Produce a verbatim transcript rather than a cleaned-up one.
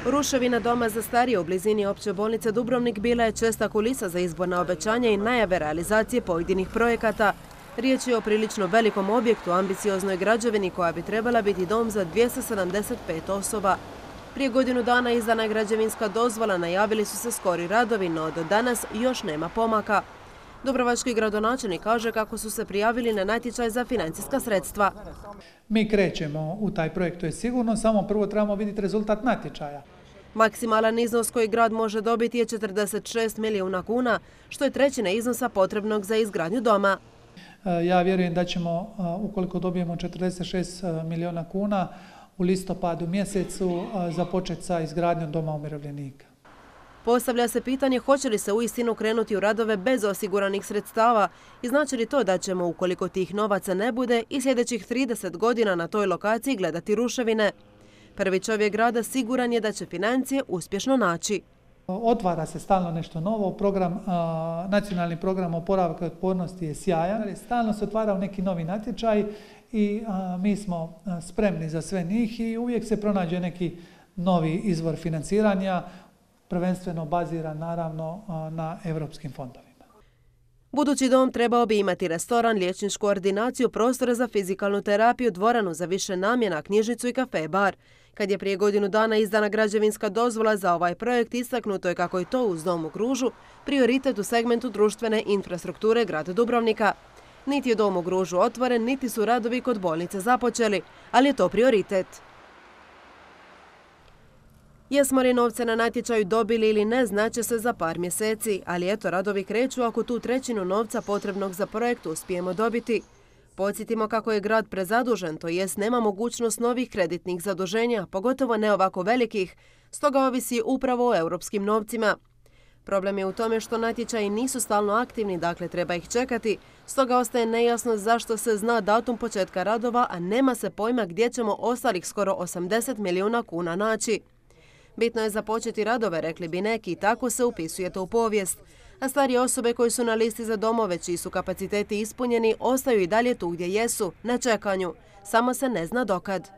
Ruševina doma za starije u blizini opće bolnice Dubrovnik bila je česta kulisa za izborna obećanja i najave realizacije pojedinih projekata. Riječ je o prilično velikom objektu, ambicioznoj građevini koja bi trebala biti dom za dvjesto sedamdeset pet osoba. Prije godinu dana izdana je građevinska dozvola, najavili su se skori radovi, no do danas još nema pomaka. Dubrovački gradonačelnik kaže kako su se prijavili na natječaj za financijska sredstva. Mi krećemo u taj projekt, to je sigurno, samo prvo trebamo vidjeti rezultat natječaja. Maksimalan iznos koji grad može dobiti je četrdeset šest milijuna kuna, što je trećina iznosa potrebnog za izgradnju doma. Ja vjerujem da ćemo, ukoliko dobijemo četrdeset šest milijuna kuna, u listopadu mjesecu započeti sa izgradnjom doma umirovljenika. Postavlja se pitanje hoće li se uistinu krenuti u radove bez osiguranih sredstava i znači li to da ćemo, ukoliko tih novaca ne bude, i sljedećih trideset godina na toj lokaciji gledati ruševine. Prvi čovjek grada siguran je da će financije uspješno naći. Otvara se stalno nešto novo, program, nacionalni program oporavka i otpornosti je sjajan. Stalno se otvara neki novi natječaj i mi smo spremni za sve njih i uvijek se pronađe neki novi izvor financiranja, prvenstveno baziran naravno na europskim fondovima. Budući dom trebao bi imati restoran, liječničku ordinaciju, prostore za fizikalnu terapiju, dvoranu za više namjena, knjižnicu i kafe bar. Kad je prije godinu dana izdana građevinska dozvola za ovaj projekt, istaknuto je kako je to uz dom u Gružu prioritet u segmentu društvene infrastrukture grada Dubrovnika. Niti je dom u Gružu otvoren, niti su radovi kod bolnice započeli, ali je to prioritet. Jesmo li novce na natječaju dobili ili ne, znaće se za par mjeseci, ali eto, radovi kreću ako tu trećinu novca potrebnog za projekt uspijemo dobiti. Podsjetimo kako je grad prezadužen, to jest nema mogućnost novih kreditnih zaduženja, pogotovo ne ovako velikih, stoga ovisi upravo o europskim novcima. Problem je u tome što natječaji nisu stalno aktivni, dakle treba ih čekati, stoga ostaje nejasno zašto se zna datum početka radova, a nema se pojma gdje ćemo ostalih skoro osamdeset milijuna kuna naći. Bitno je započeti radove, rekli bi neki, i tako se upisuje to u povijest. A starije osobe koji su na listi za domove, čiji su kapaciteti ispunjeni, ostaju i dalje tu gdje jesu, na čekanju. Samo se ne zna dokad.